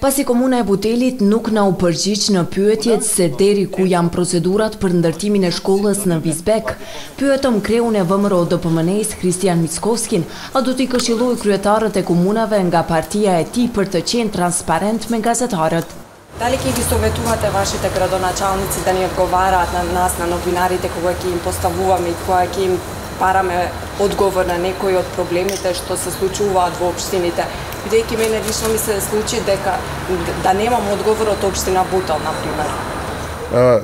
Паси комуна е Бутелит нук на упржич на pyetjet se deri ku janë procedurat për ndërtimin e shkollës në Vizbek. Pyetëm kreun e VMRO DPMNE-s Kristian Mickovskin, a do t'i këshilloj kryetarët e komunave nga partia e tij për të qenë transparent me gazetarët. Дали ќе ги советувате вашите градоначалници да ни одговараат на нас, на новинарите, кога ќе им поставуваме и кога ќе им параме одговор на некои од проблемите што се случуваат во општините? Бидејќи мене лично ми се случи дека да немам одговор од општина Бутел, например.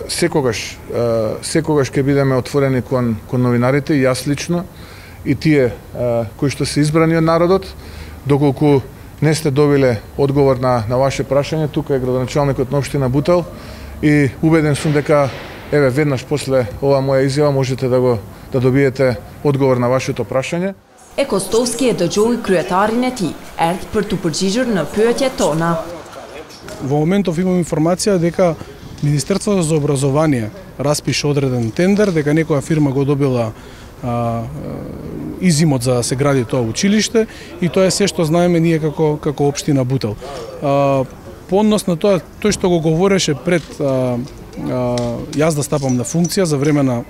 Секогаш ќе бидеме отворени кон новинарите, и јас лично, и тие кои што се избрани од народот, доколку не сте добиле одговор на ваше прашање. Тука е градоначалникот на општина Бутел и убеден сум дека веднаш после ова моја изјава можете да добиете одговор на вашето прашање. Костовски е дëgjoi kryetarin e tij, erdh për t'u përgjigjur në pyetjet tona. Во моментов имам информација дека Министерството за образование распише одреден тендер, дека некоја фирма го добила изимот за да се гради тоа училиште, и тоа е се што знаеме ние како општина Бутел. По однос на тоа, тој што го говореше пред јас да стапам на функција за време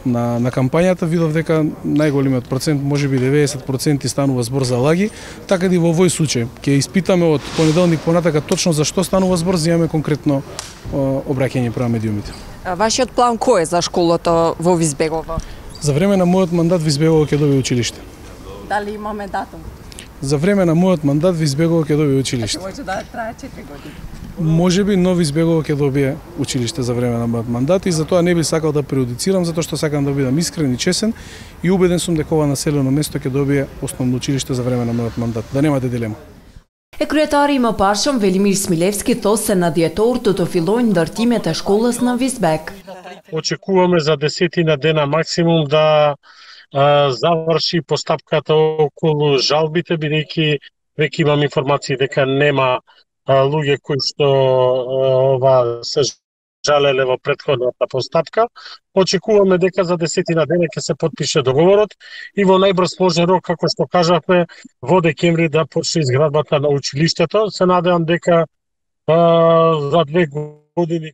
на кампањата, видов дека најголемиот процент, можеби 90% станува збор за лаги, така и во овој случај. Ќе испитаме од понеделник понатака точно за што станува збор, за имаме конкретно обраќање према медиумите. Вашиот план кој е за школата во Визбегово? За време на мојот мандат Визбегово ќе добие училиште. Дали имаме датум? За време на мојот мандат Визбегово ќе добие училиште. Може да трае 4 години. Можеби нови Визбегово ќе добие училиште за време на мојот мандат, и затоа не би сакал да преудицирам, затоа што сакам да бидам искрен и чесен, и убеден сум дека ова населено место ќе добие основно училиште за време на мојот мандат. Да немате дилема. Kryetari i mëparshëm Velimir Smilevski thos se në dhjetor do të fillojnë ndërtimet e shkollës në Vizbek. Очекуваме за 10 дена максимум да заврши постапката околу жалбите, бидејќи веќе имам информации дека нема луѓе кои што се жалеле во претходната постапка. Очекуваме дека за 10 дена ќе се потпише договорот и во најбрз можен рок, како што кажавме, во декември да почне изградбата на училиштето. Се надевам дека за 2 години.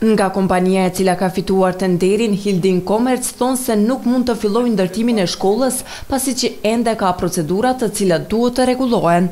Nga kompania e cila ka fituar tenderin, Hilding Commerce thonë se nuk mund të fillojë ndërtimin e shkollës pasi që ende ka procedura të cilat duhet të rregullohen.